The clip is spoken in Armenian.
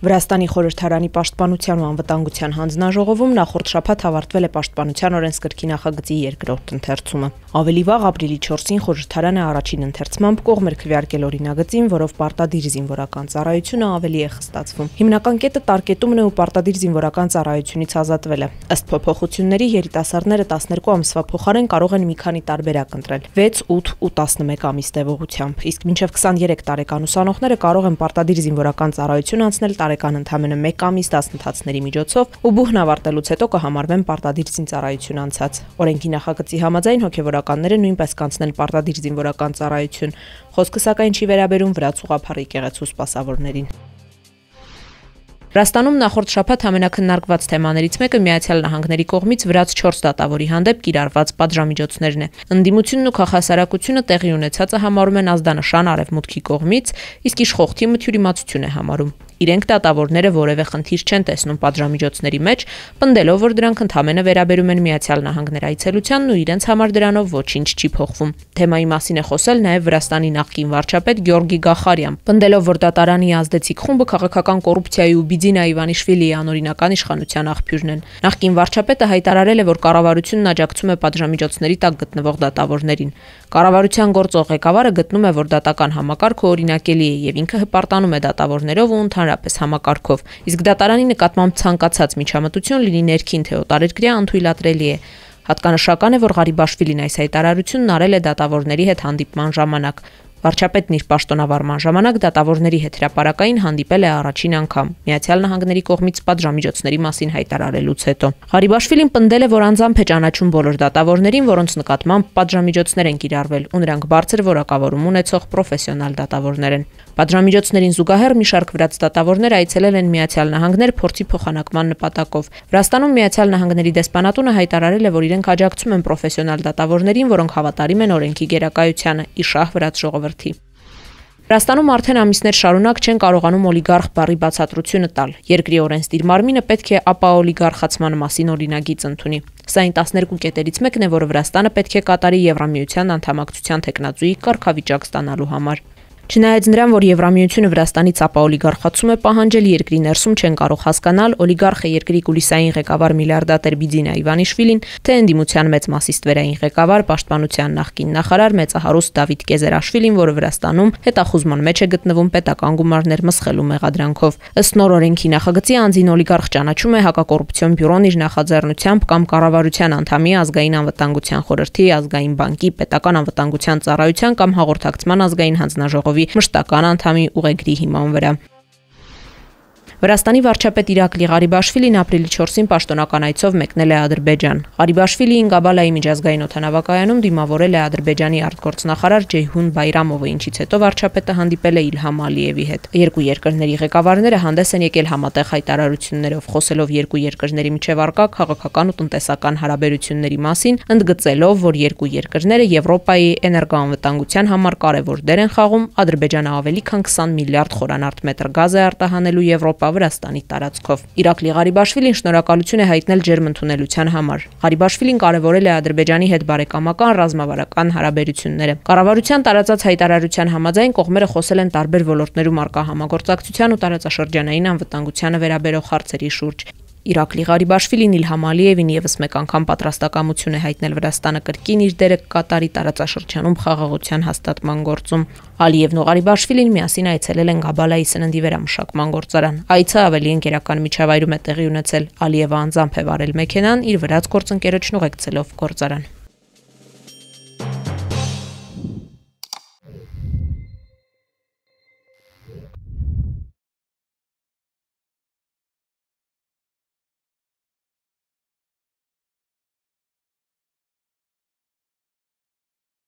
Վրաստանի խորհրդարանի պաշտպանության ու անվտանգության հանձնաժողովում նախորդ շաբաթ ավարտվել է պաշտպանության օրենսգրքի նախագծի երկրորդ ընթերցումը։ Ավելի վաղ ապրիլի 4-ին խորհրդարանը առաջին ընթերցմամբ կողմ էր քվեարկել օրինագծին, որով պարտադիր զինվորական ծառայությունը ավելի է խստացվում։ Հիմնական կետը տարկետումն է ու պարտադիր զինվորական ծառայությունից ազատվելը։ Ըստ փոփոխությունների երիտասարդները 12 ամսվա փոխարեն կարող են մի քանի տարբերակ ընտրել՝ 6, 8 ու 11 ամիս տևողությամբ, իսկ մինչև 23 տարեկան ուսանողները կարող են պարտադիր զինվորական ծառայություն անցնել տարեկան ընդամենը 1 ամիս դասընթացների միջոցով ու բուհն ավարտելուց հետո կհամարվեն պարտադիր զինծառայություն անցած։ Օրենքի նախագծի համաձայն հոգևորականները նույնպես կանցնել պարտադիր զինվորական ծառայություն։ Խոսքը սակայն չի վերաբերում վրաց ուղղափառ եկեղեցու սպասավորներին։ Վրաստանում նախորդ շաբաթ ամենաքննարկված թեմաներից մեկը Միացյալ Նահանգների կողմից վրաց 4 դատավորի հանդեպ կիրառված պատժամիջոցներն է։ Ընդդիմությունն ու քաղաքասարակությունը տեղի ունեցածը համարում են ազդանշան արևմուտքի կողմից, իսկ իշխող թիմը թյուրիմացություն է համարում։ Իրենք դատավորները որևէ խնդիր չեն տեսնում պատժամիջոցների մեջ, պնդելով, որ դրանք ընդհանրապես վերաբերում են Միացյալ Նահանգներ այցելությանն ու իրենց համար դրանով ոչինչ չի փոխվում։ Թեմայի մասին է խոսել նաև Վրաստանի նախկին վարչապետ Գյորգի Գախարյան, պնդելով, որ դատարանի ազդեցիկ խումբը քաղաքական կոռուպցիայի ու Բիձինա Իվանիշվիլիի անօրինական իշխանության աղբյուրն են։ Նախկին վարչապետը հայտարարել է, որ կառավարությունն աջակցում է պատժամիջոցների տակ գտնվող դատավորներին։ Կառավարության գործող ղեկավարը գտնում է, որ դատական համակարգը օրինակելի է եւ ինքը հպարտանում է դատավորներով ու ընդհանրապես համակարգով, իսկ դատարանի նկատմամբ ցանկացած միջամտություն լինի ներքին թե օտարերկրյա անթույլատրելի է։ Հատկանշական է, որ Ղարիբաշվիլին այս հայտարարությունն արել է դատավորների հետ հանդիպման ժամանակ։ Վարչապետն իր պաշտոնավարման ժամանակ դատավորների հետ հրապարակային հանդիպել է առաջին անգամ Միացյալ Նահանգների կողմից պատժամիջոցների մասին հայտարարելուց հետո։ Ղարիբաշվիլին պնդել է, որ անձամբ է ճանաչում բոլոր դատավորներին, որոնց նկատմամբ պատժամիջոցներ են կիրառվել, ու նրանք բարձր որակավորում ունեցող պրոֆեսիոնալ դատավորներ են։ Պատժամիջոցներին զուգահեռ մի շարք վրաց դատավորներ այցելել են Միացյալ Նահանգներ փորձի փոխանակման նպատակով։ Վրաստանում Միացյալ Նահանգների դեսպանատունը հայտարարել է, որ իրենք աջակցում են պրոֆեսիոնալ դատավորներին, որոնք հավատարիմ են օրենքի գերակայությանը, իշահ վրաց ժողովրդի։ Վրաստանում արդեն ամիսներ շարունակ չեն կարողանում օլիգարխ բառի բացատրությունը տալ։ Երկրի օրենսդիր մարմինը պետք է ապաօլիգարխացման մասին օրինագիծ ընդունի։ Սա այն 12 կետերից մեկն է, որը Վրաստանը պետք է կատարի Եվրամիության անդամակցության թեկնածուի կարգավիճակ ստանալու համար։ Չնայած նրան, որ Եվրամիությունը Վրաստանից ապաօլիգարխացում է պահանջել, երկրի ներսում չեն կարող հասկանալ օլիգարխը երկրի կուլիսային ղեկավար միլիարդատեր Բիձինա Իվանիշվիլին, թե ընդդիմության մեծ մասի ստվերային ղեկավար, պաշտպանության նախկին նախարար մեծահարուստ Դավիթ Կեզերաշվիլին, որը Վրաստանում հետախուզման մեջ է գտնվում պետական գումարներ մսխելու մեղադրանքով։ Ըստ նոր օրենքի նախագծի անձին օլիգարխ ճանաչում է հակակոռուպցիոն բյուրոն իր նախաձեռնությամբ կամ կառավարության անդամի ազգային անվտանգության խորհրդի, ազգային բանկի, պետական անվտանգության ծառայության կամ հաղորդակցման ազգային հանձնաժողովի մշտական անդամի ուղեգրի հիման վրա։ Վրաստանի վարչապետ Իրակլի Ղարիբաշվիլին ապրիլի 4-ին պաշտոնական այցով մեկնել է Ադրբեջան։ Ղարիբաշվիլին Գաբալայի միջազգային օդանավակայանում դիմավորել է Ադրբեջանի արտգործնախարար Ջեյհուն Բայրամովը, ինչից հետո վարչապետը հանդիպել է Իլհամ Ալիևի հետ։ Երկու երկրների ղեկավարները հանդես են եկել համատեղ հայտարարություններով, խոսելով երկու երկրների միջև առկա քաղաքական ու տնտեսական հարաբերությունների մասին, ընդգծելով, որ երկու երկրները Եվրոպայի էներգոանվտանգության համար կարևոր դեր են խաղում, Ադրբեջանը ավելի քան 20 միլիարդ խորանարդ մետր գազ է արտահանելու Եվրոպա Վրաստանի տարածքով։ Իրակլի Ղարիբաշվիլին շնորհակալություն է հայտնել ջերմընդունելության համար։ Ղարիբաշվիլին կարևորել է Ադրբեջանի հետ բարեկամական ռազմավարական հարաբերությունները։ Կառավարության տարածած հայտարարության համաձայն կողմերը խոսել են տարբեր ոլորտներում առկա համագործակցության ու տարածաշրջանային անվտանգությանը վերաբերող հարցերի շուրջ։ Իրակլի Ղարիբաշվիլին Իլհամ Ալիևին եւս մեկ անգամ պատրաստակամություն է հայտնել Վրաստանը կրկին իր դերը կատարի տարածաշրջանում խաղաղության հաստատման գործում։ Ալիևն ու Ղարիբաշվիլին միասին այցելել են Գաբալայի սննդի վերամշակման գործարան։ Այցը ավելի ընկերական միջավայրում է տեղի ունեցել։ Ալիևը անձամբ է վարել մեքենան, իր վրաց գործընկերոջն ուղեկցելով գործարան։